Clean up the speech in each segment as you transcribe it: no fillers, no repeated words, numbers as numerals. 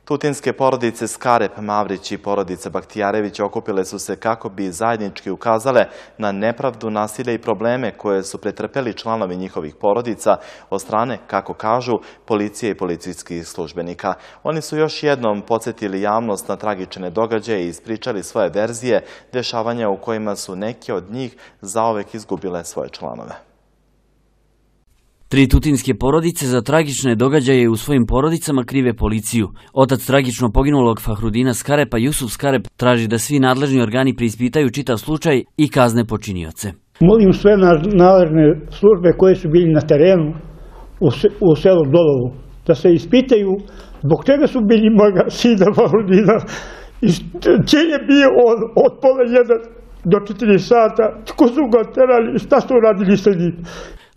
Tutinske porodice Skarep, Mavrić i porodica Bahtijarević okupile su se kako bi zajednički ukazale na nepravdu, nasilje i probleme koje su pretrpeli članovi njihovih porodica od strane, kako kažu, policije i policijskih službenika. Oni su još jednom podsjetili javnost na tragične događaje i ispričali svoje verzije dešavanja u kojima su neke od njih zaovek izgubile svoje članove. 3 tutinske porodice za tragične događaje u svojim porodicama krive policiju. Otac tragično poginulog Fahrudina Skarepa, Jusuf Skarep, traži da svi nadležni organi preispitaju čitav slučaj i kazne počinioce. Molim sve nadležne službe koje su bili na terenu u selu Dolovu da se ispitaju zbog čega su bili moga sina Fahrudina i gdje je bio on od pola 1 do 4 sata, tko su ga terali i šta su radili sa njim.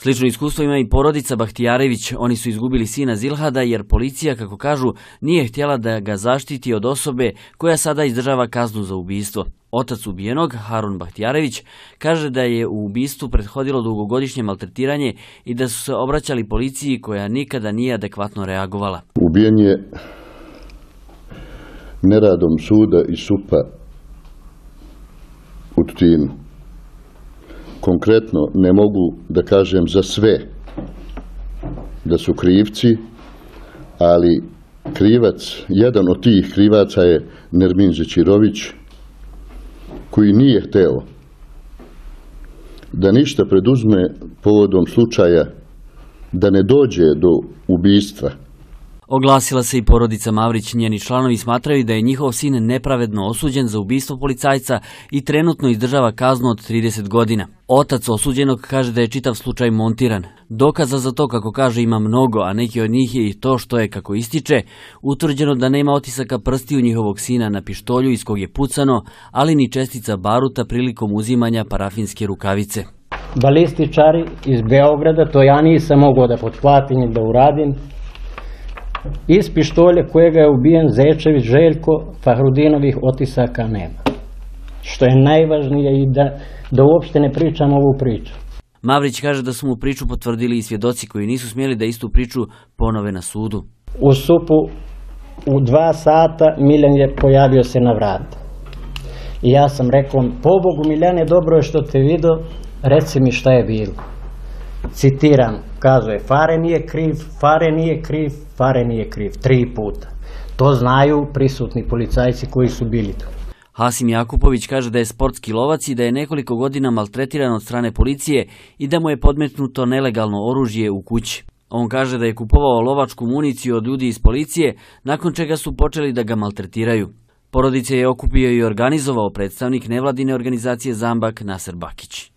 Slično iskustvo ima i porodica Bahtijarević. Oni su izgubili sina Zilhada jer policija, kako kažu, nije htjela da ga zaštiti od osobe koja sada izdržava kaznu za ubistvo. Otac ubijenog, Harun Bahtijarević, kaže da je u ubistvu prethodilo dugogodišnje maltretiranje i da su se obraćali policiji koja nikada nije adekvatno reagovala. Ubijen je neradom suda i SUP-a u Tutinu. Konkretno ne mogu da kažem za sve da su krivci, ali jedan od tih krivaca je Nermin Zećirović, koji nije hteo da ništa preduzme povodom slučaja da ne dođe do ubistva. Oglasila se i porodica Mavrić. Njeni članovi smatraju da je njihov sin nepravedno osuđen za ubistvo policajca i trenutno izdržava kaznu od 30 godina. Otac osuđenog kaže da je čitav slučaj montiran. Dokaza za to, kako kaže, ima mnogo, a neki od njih je i to što je, kako ističe, utvrđeno da nema otisaka prstiju njihovog sina na pištolju iz kog je pucano, ali ni čestica baruta prilikom uzimanja parafinske rukavice. Balističari iz Beograda, to ja nisam mogao da potplatim i da uradim, iz pištolja kojega je ubijen Zečević Željko, Fahrudinovih otisaka nema. Što je najvažnije i da uopšte ne pričam ovu priču. Mavrić kaže da su mu priču potvrdili i svjedoci koji nisu smjeli da istu priču ponove na sudu. U SUP-u u 2 sata Miljan je pojavio se na vrata. I ja sam rekao, pobogu Miljane, dobro je što te vidio, reci mi šta je bilo. Citiram, kazuje, Fare nije kriv, Fare nije kriv, Fare nije kriv, 3 puta. To znaju prisutni policajci koji su bili tu. Hasim Jakupović kaže da je sportski lovac i da je nekoliko godina maltretiran od strane policije i da mu je podmetnuto nelegalno oružje u kući. On kaže da je kupovao lovačku municiju od ljudi iz policije, nakon čega su počeli da ga maltretiraju. Porodice je okupio i organizovao predstavnik nevladine organizacije Zambak Naser Bakić.